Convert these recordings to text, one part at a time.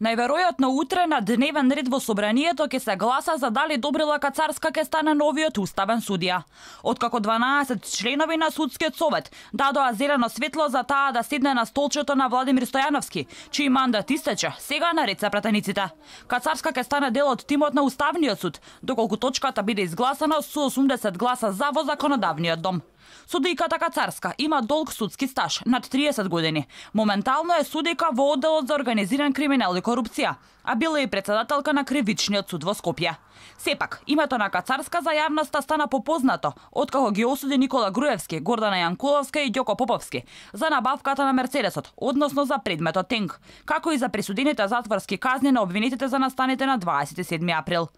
Најверојатно утре на дневен ред во собранието ќе се гласа за дали Добрила Кацарска ќе стане новиот уставен судија. Откако 12 членови на судскиот совет дадоа зелено светло за таа да седне на столчето на Владимир Стојановски, чиј мандат истече, сега наред се пратениците. Кацарска ќе стане дел од тимот на Уставниот суд, доколку точката биде изгласана со 80 гласа за во законодавниот дом. Судијката Кацарска има долг судски стаж, над 30 години. Моментално е судика во одделот за организиран криминал и корупција, а била и председателка на Кривичниот суд во Скопје. Сепак, името на Кацарска за јавноста стана попознато откако ги осуди Никола Груевски, Гордана Јанкуловска и Ѓоко Поповски за набавката на Мерцедесот, односно за предметот тенк, како и за присудените затворски казни на обвинетите за настаните на 27 април.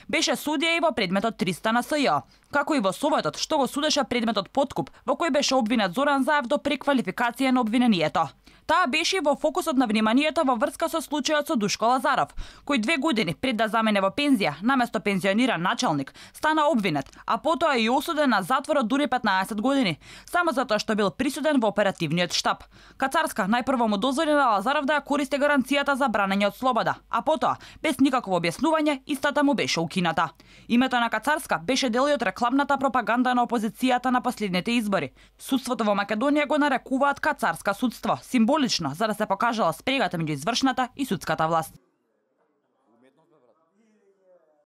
Беше судија и во предметот 300 на СЈО, како и во советот што го судеше предметот подкуп, во кој беше обвинет Зоран Заев до преквалификација на обвинението. Таа беше во фокусот на вниманието во врска со случајот со Душко Лазаров, кој 2 години пред да замене во пензија, наместо пензиониран началник, стана обвинет, а потоа и осуден на затвор од дури 15 години, само затоа што бил присуден во оперативниот штаб. Кацарска најпрво му дозволи на Лазаров да ја користи гаранцијата за бранење од слобода, а потоа, без никакво објаснување, истата му беше укината. Името на Кацарска беше дел од рекламната пропаганда на опозицијата на последните избори. Судството во Македонија го нарекуваат Кацарска судство, символично за да се покажала спрегата меѓу извршната и судската власт.